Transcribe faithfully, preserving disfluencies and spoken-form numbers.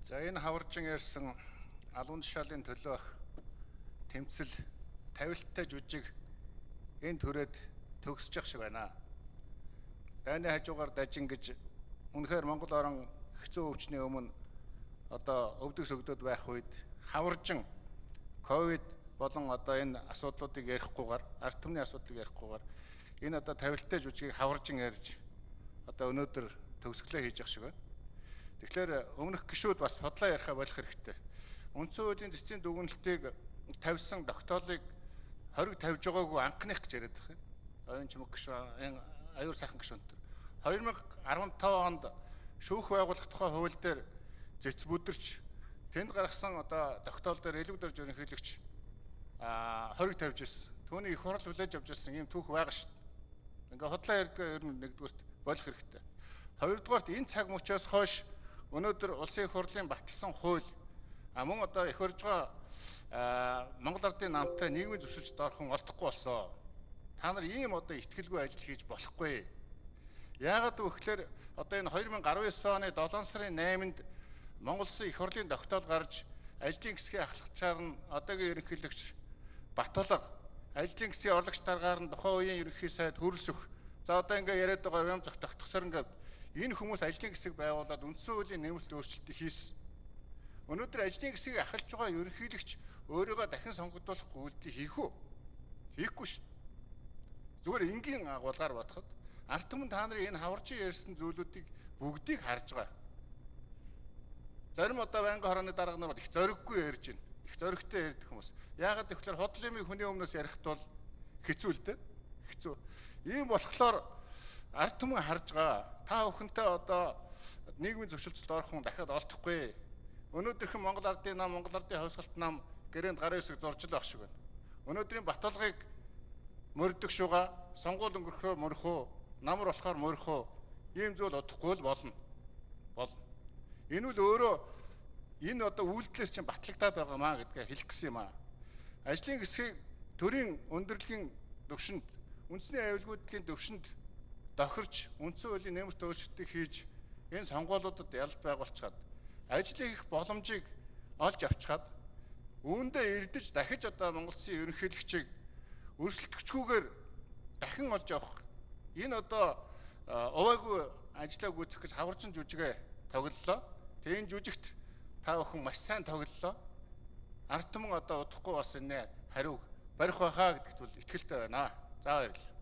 За энэ хаваржин ярьсан алуун тушаалын төлөөх тэмцэл тавилттай жүжиг энэ төрөд төгсөж шиг байна. Дайны хажуугаар дажин гэж үнэхээр Монгол орон хэцүү өвчний өмнө одоо өвдөг сөгдөд байх үед хаваржин ковид болон одоо энэ асуудлуудыг ярихгүйгээр ард түмний асуудлыг ярихгүйгээр энэ одоо тавилттай жүжигийг хаваржин ярьж одоо өнөөдөр төгсгөлөө хийж явах шиг байна. Тэгэхээр өмнөх гишүүд бас судлаа ярихаа болох хэрэгтэй. Үндсэн хуулийн цэцгийн дүгнэлтийг тавьсан тогтоолыг хориг тавьж байгаагүй анхных гэж яриад байгаа юм. Оюун чимэг гишүүн, энэ аюур сайхан гишүүн төр. две тысячи десятый онд шүүх байгуулах тухай хууль дээр зэц бүдэрч тэнд гаргасан одоо тогтоол дээр элэг дөрж ерөнхийлөгч а хориг тавьж ирсэн. Түүний их хурал хүлээж авч ирсэн юм түүх байгаа шүү дээ. Ингээ хотлоо ярьдгаа ер нь нэгдүгээрт болох хэрэгтэй. Хоёрдугаарт энэ цаг мөчөөс хойш өнөөдөр улсын их хурлын баталсан хууль а мөн одоо их орж байгаа Монгол Ардын намтай нийгмийн зөвшөөрөлд орхон олдохгүй болсон. Та нар ийм одоо ихтгэлгүй ажил хийж болохгүй. Яагаад гэвэл одоо энэ две тысячи десятый оны долоон сарын найманд Монгол Улсын их хурлын тогтоол гарч ажлын хэсгийн ахлагчаар нь одоогийн ерөнхийлөгч Батулга, ажлын хэсгийн орлогч даргаар нь тухайн үеийн ерөнхий сайд Хөрөлсөх. За одоо ингээ яриад байгаа юм зөх тогтгосоор ингээд энэ хүмүүс ажлын хэсэг байгуулад үндсэн хуулийн нэмэлт өөрчлөлтийг хийсэн. Өнөөдөр ажлын хэсгийг ахалж байгаа ерөнхийлөгч өөрийгөө дахин сонгогдуулах үйлдэл хийх үү? Хийхгүй ш. Зүгээр энгийн агуулгаар бодоход ард түмэн та нарын энэ хаваржин ярьсан зүйлүүдийг бүгдийг харж байгаа. Зарим одоо байнгын хорооны дарга нар их зориггүй ярьж байна. Их зоригтой ярьдаг хүмүүс. Яагаад гэвэл худал юмыг хүний өмнөөс ярихт бол хэцүү л дээ. Хэцүү. Ийм болохоор ард түмэн харж байгаа. Та бүхэнтэй одоо нийгмийн зөвшөлтөд орох хүн дахиад олдохгүй. Өнөөдрийнхэн Монгол Ардын нам, Монгол Ардын хавьсгалт нам гэрээнд гарын хэсэг зурж л байх шиг байна. Өнөөдрийн Батулгыг мөрдөг шуга, сонгуул өнгөрөхөөр мөрөхөө, намар болохоор мөрөхөө. Ийм зүйл удахгүй л болно. Болно. Энэ үл өөрөө энэ одоо үйлдэлээс чинь батлагдаад байгаа маа гэдгээ хэлэх гэсэн юм аа. Ажлын хэсгийг төрийн өндөрлөгийн төвшөнд, үндэсний аюулгүйдлийн төвшөнд тохирч үндсэн хуулийн нэмэлт өөрчлөлтийг хийж энэ сонгуульуудад ялалт байгуулчихад ажлын их боломжийг олж авчихад үүндээ эрдэж дахиж одоо Монгол Улсын ерөнхийлөгчийг өрсөлдөгчгүйгээр дахин олж авах энэ одоо уваагүй ажлаа гүйцэх гэж хаваржин жүжигээ тоглолоо. Тэгээ энэ жүжигт та бүхэн маш сайн тоглолоо. Ард түмэн одоо удахгүй бас энэ хариуг барих байхаа гэдэгт бол итгэлтэй байна. За баярлалаа.